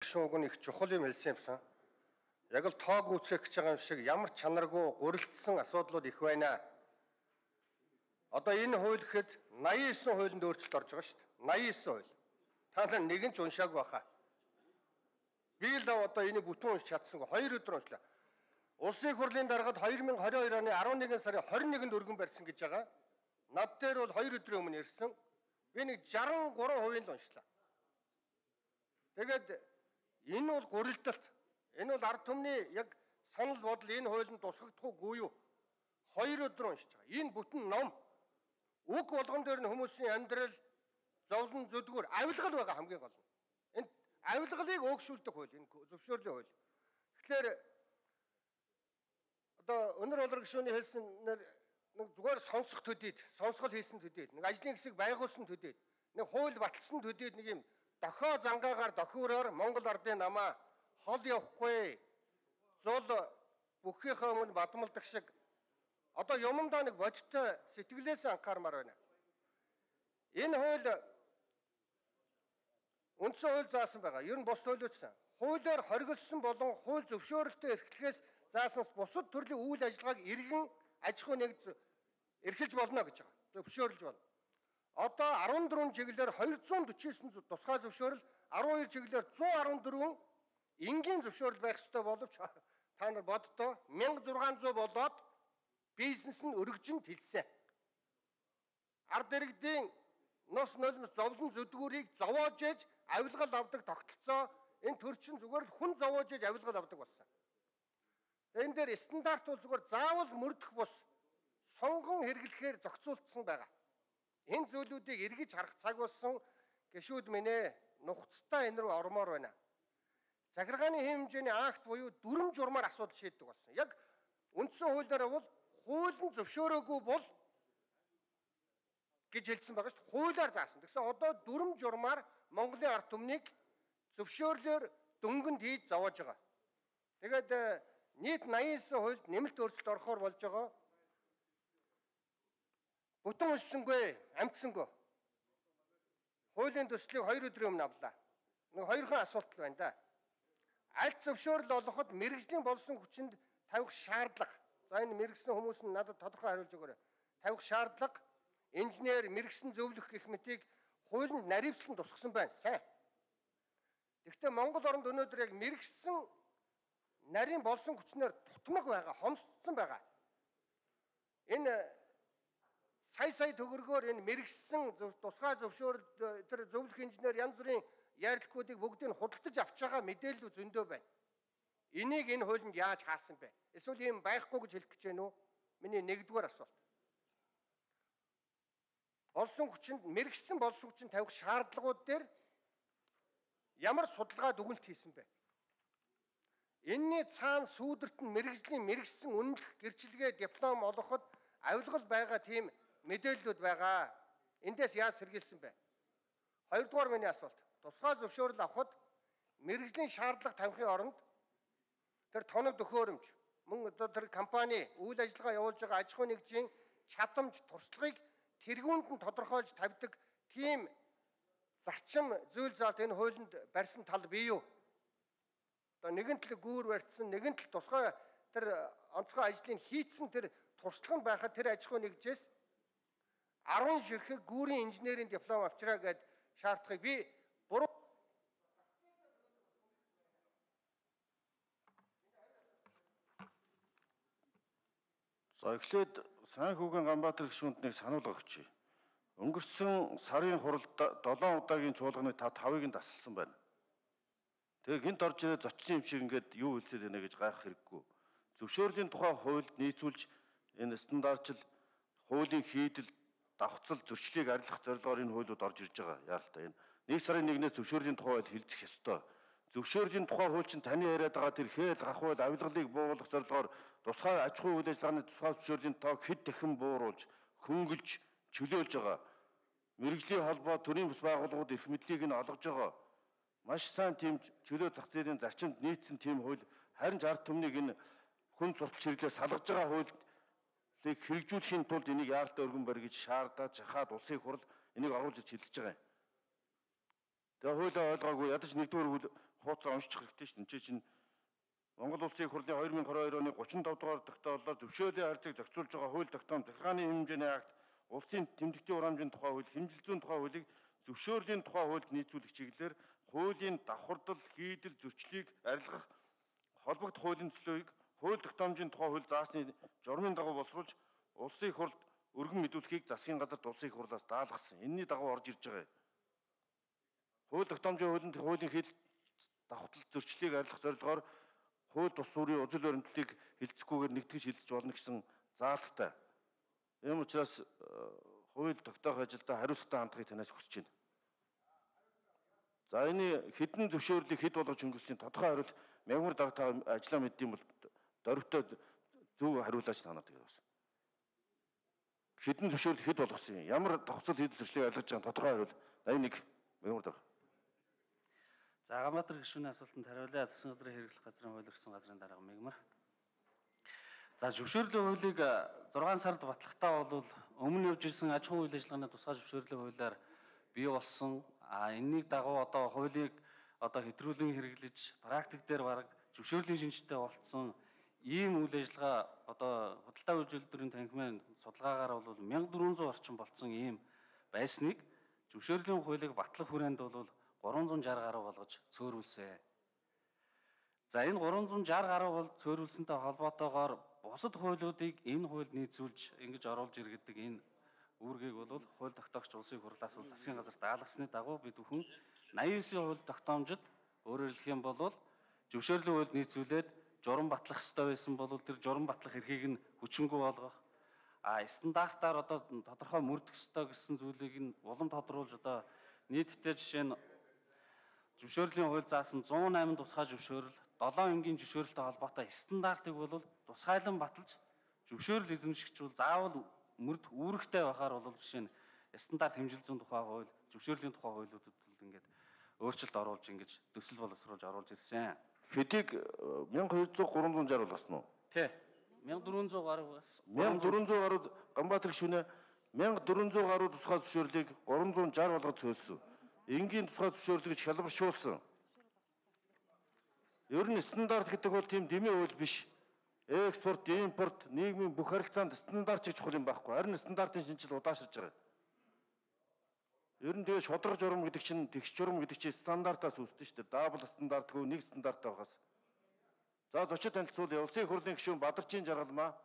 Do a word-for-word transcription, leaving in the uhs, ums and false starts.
Шууг нь их чухал юм хэлсэн юмсан. Яг л тоог үүсгэх гэж байгаа юм шиг ямар чанаргүй гурилдсан асуудлууд их байна. Одоо энэ хууль гэхэд наян девять хуулинд өөрчлөлт орж байгаа шүү дээ. наян девять хууль. Та нар нэгэн ч уншаагүй баха. Би л одоо энийг бүтэн уншиж чадсангүй. Хоёр өдөр уншлаа. Улсын их хурлын даргад две тысячи двадцать two оны eleven сарын twenty-first-нд өргөн барьсан гэж байгаа. Над дээр бол хоёр өдрийн өмнө ирсэн. Би нэг sixty-three хувийн л уншлаа. Тэгээд энэ бол гурилдалт. Энэ бол ард түмний яг санал бодол энэ хуулинд тусгагдах уугүй юу? Хоёр өдөр уншиж байгаа. Энэ бүтэн ном. Үг болгон дээр нь хүмүүсийн амьдрал, зовлон, зүдгүүр, авилгал байгаа хамгийн гол нь. Энэ авилгалыг өөгшүүлдэг хууль, энэ зөвшөөрлийн хууль. Тэгэхээр одоо өнөр болор гишүүний хэлсэн нэг зүгээр сонсох төдийд, сонсгол хийсэн төдийд, нэг ажлын хэсэг байгуулсан төдийд, нэг хууль баталсан төдийд нэг юм дохио зангаагаар дохиороор Монгол ардын намаа хол явахгүй. Зул бүхийнхээ өмнө бадмалдаг шиг одоо юмдаа нэг бодиттой сэтгэлээс анхаармаар байна. Энэ хууль үндсэн хууль заасан байгаа. Ер нь бус хуулиудсан. Хуулиар хоригдсон болон хууль зөвшөөрөлтөд эрхлэхээс заасан бусад төрлийн үйл ажиллагааг иргэн аж ахуй нэгж эрхэлж болно гэж байгаа. Зөвшөөрлж болно. Одоо fourteen чиглэлээр two hundred forty-nine тусгай зөвшөөрөл, twelve чиглэлээр one hundred fourteen энгийн зөвшөөрөл байх ёстой боловч та нар боддоо sixteen hundred болоод бизнес нь өргөжинд хэлсэн. Ард иргэдийн нос нулимс зовлон зүдгүүрийг зовоож ээж авилгал авдаг тогтолцоо энэ төрчин зүгээр л хүн зовоож ээж авилгал авдаг болсон. Энэ дээр стандарт бол зүгээр заавал мөрдөх бус сонгон хэрэглэхээр зохицуулсан байгаа. Энэ зүйлүүдийг эргэж харах цаг болсон гишүүд минь ээ нухацтай энэ рүү ормоор байна. Захиргааны хэмжээний акт буюу дүрм журмаар асуудал шийддэг болсон. Яг үндсэн хуулиараа бол хуулийн зөвшөөрөөгүй бол гэж хэлсэн байгаа шүү дээ. Хуулиар заасан. Тэгсэн одоо дүрм журмаар Монголын ард түмнийг зөвшөөрлөөр дөнгөнд хийж зовоож байгаа. Тэгээд нийт ninety-nine хуульд нэмэлт өөрчлөлт орохоор болж байгаа. Бүтэн өссөнгүй, амтсангүй. Хуулийн төслийг хоёр өдрийн өмнө авлаа. Нэг хоёрхан асуулт байна да. Аль зөвшөөрөл олоход мэрэгжлийн болсон хүчинд тавих шаардлага. За энэ мэрэгсэн хүмүүс нь надад тодорхой хариулж өгөөрэй. Тавих шаардлага, инженер, мэрэгсэн зөвлөх гэх мэтийг хуулинд наривчлан тусгасан байна. Сайн. Гэхдээ Монгол оронд өнөөдөр яг мэрэгсэн нарийн болсон хүчнээр тутмаг байгаа, хомсдсон байгаа. Энэ сая сая төгрөгөөр энэ мэрэгсэн тусгай зөвшөөрөл тэр зөвлөх инженер янз бүрийн ярилцлагуудыг бүгдийг худалдаж авч байгаа мэдээлэл зөндөө байна. Энийг энэ хуулинд яаж хаасан бэ? Эсвэл ийм байхгүй гэж хэлэх гэж байна уу? Миний нэгдүгээр асуулт. Болсон хүчинд мэрэгсэн болсон хүчинд тавих шаардлагууд дээр ямар судалгаа дүгнэлт хийсэн бэ? Энийний цаана сүүдэрт нь мэрэгжлийн мэрэгсэн үнэлэх гэрчлэгээ диплом олгоход авилгал байгаа тийм мэдээллүүд байгаа. Эндээс яаж сэргийлсэн бэ? Хоёрдугаар миний асуулт. Тусгай зөвшөөрөл авахд мэрэгжлийн шаардлага тавихын оронд тэр тоног төхөөрөмж, мөн одоо тэр компани үйл ажиллагаа явуулж байгаа аж ахуй нэгжийн чадамж, туршлагыг тэргүүнд нь тодорхойлж тавьдаг тийм зарчим зүйл заалт энэ хуулинд барьсан тал бий юу? Одоо нэгэн тал гүүр барьсан, нэгэн тал тусгай тэр онцгой ажлыг хийцэн тэр туршлага нь байхад тэр аж ахуй нэгжээс ten ширхэг гүүрийн инженерийн диплом авчраа гэд шаардлагыг би буруу За эхлээд Сайнхүүгийн Ганбаатар гишүүнд нэг санал өгч. Өнгөрсөн сарын хуралд seven удаагийн чуулганы та five-ыг нь тасалсан байна. Тэгээ гинт орж ирээ зочсон юм шиг ингээд юу хэлцээд байна гэж гайхах хэрэггүй. Зөвшөөрлийн тухай хуульд нийцүүлж энэ стандартчил хуулийн хийдэл, давхцал, зөрчлийг арилгах зорилгоор энэ хуулиуд орж ирж байгаа. Яаралтай энэ. Нэг сарын нэгнээс зөвшөөрлийн тухай хэлцэх ёстой. Зөвшөөрлийн тухай хууль чинь таны яриад байгаа тэр хээл гахвал авилгалыг бууруулах зорилгоор тусгай аж ахуй үйл ажиллагааны тусгай зөвшөөрлийн тоог хэд дахин бууруулж, хөнгөлж, чөлөөлж байгаа. Мэргэжлийн холбоо, төрийн бас байгууллагууд эрх мэдлийг нь олгож байгаа. Маш сайн тийм чөлөө зах зээлийн зарчимд нийцсэн тийм хууль харин ард түмнийг энэ хүн сурч чиглэлээр салгаж байгаа хуулийг хэрэгжүүлэхийн тулд энийг яаралтай өргөн барь гэж шаардаад жахаад улсын их хурл энийг оруулж хэлж байгаа юм. Тэгээ хуулиа ойлгоогүй ядаж нэгдүгээр хуудасаа уншчих хэрэгтэй шүү дээ. Энд чинь Монгол Улсын их хурлын две тысячи двадцать two оны thirty-five дугаар тогтоолоор зөвшөөрлийн харьцааг зохицуулж байгаа хууль тогтоом захиргааны эм хэмжээний акт, улсын тэмдэгтийн урамжийн тухай хууль, хэмжил зүйн тухай хуулийг зөвшөөрлийн тухай хуульд нийцүүлэх чиглэлээр хуулийн давхардал, хийдэл, зөрчлийг арилгах холбогд хуулийн төслийг хууль тогтоомжийн тухай хууль заасны журмын дагуу боловсруулж улсын их хурлд өргөн мэдүүлэхийг засгийн газарт улсын их хурлаас даалгасан. Энэний дагуу орж ирж байгаа. Хууль тогтоомжийн хуулинд хуулийн хил давхардал, зөрчлийг арилгах зорилгоор хууль тус сүрийн үзэл баримтлалыг хилцэхгүйгээр нэгтгэж хилцэж болно гэсэн заалттай. Ийм учраас хууль тогтоох ажилдаа хариуцлагатай хандахыг танаас хүсэж байна. За энэ хэдэн зөвшөөрлийг хэд болгож өнгөрсөн тодорхой хариулт мягмар дарга та ажиллаа мэддэм бол дөрвтөө зөв хариулаач танаад байгаа бас. Хэдэн зөвшөөрөл хэд болгосон юм? Ямар давхцал хийдэл зөрчлийг арилгаж байгаа тодорхой хариул eighty-one мягмар дарга. За Ганбаатар гишүүний асуултанд хариулъя. Засгийн газрын хэрэглэх газрын хууль өргөсөн газрын дарга мягмар. За зөвшөөрлийн хуулийг six сард батлахтаа бол өмнө явж ирсэн аж ахуйн үйл ажиллагааны тусгай зөвшөөрлийн хуулиар бий болсон. А энэнийг дагуу одоо хуулийг одоо хэтрүүлэн хэрэглэж практик дээр бараг зөвшөөрлийн шинжтэй болцсон ийм үйл ажиллагаа одоо худалдаа үйлдвэрлэлийн танхимын судалгаагаар бол one thousand four hundred орчим болцсон ийм байсныг зөвшөөрлийн хуулийг батлах хүрээнд бол three hundred sixty гаруй болгож цөөрүүлсэн. За энэ three hundred sixty гаруй бол цөөрүүлсэнтэй холбоотойгоор бусад хуулиудыг энэ хуульд нийцүүлж ингэж оруулж иргэдэг энэ үүргийг бол хууль тогтоогч улсын хурлаас бол засгийн газар даалгасны дагуу бид бүхэн ninety-nine хууль тогтоомжид өөрөөр хэлэх юм бол зөвшөөрлийн хуульд нийцүүлээд журам батлах ёстой байсан бол тэр журам батлах эрхийг нь хүчингүй болгох, а стандартаар одоо тодорхой мөрдөх ёстой гэсэн зүйлийг нь улам тодруулж одоо нийтдээ жишээ нь зөвшөөрлийн хууль заасан one oh eight тусгай зөвшөөрөл, seven энгийн зөвшөөрөлтэй холбоотой стандартыг бол тусгайлан баталж зөвшөөрөл эзэмшигчвэл заавал мөрд үүрэгтэй байхаар бол жишээ нь стандарт хэмжил зүйн тухай хууль, зөвшөөрлийн тухай хуулиудад бол ингээд өөрчлөлт оруулж ингэж төсөл боловсруулж оруулж ирсэн. Хэдийг twelve hundred three hundred sixty болгосон уу? Тий. fourteen hundred гаруй бас. fourteen hundred гаруй Ганбаатар гишүүнээ fourteen hundred гаруй тусгай зөвшөөрлийг three hundred sixty болгож цөөлсөн. Энгийн тусгай зөвшөөрлийг хялбаршуулсан. Ер нь стандарт гэдэг бол тийм дэмий хууль биш. Экспорт, импорт, нийгмийн бүх харилцаанд стандарт гэж чухал юм байхгүй. Харин стандартын шинжил удаашрж байгаа. Ер нь тэгээ шодрог журам гэдэг чинь тэгш журам гэдэг чинь стандартаас үүсдэг шүү дээ. Дабл стандартгүй нэг стандарттай байгаас. За зочид танилцуул улсын их хурлын гишүүн Бадарчин Жаргалмаа.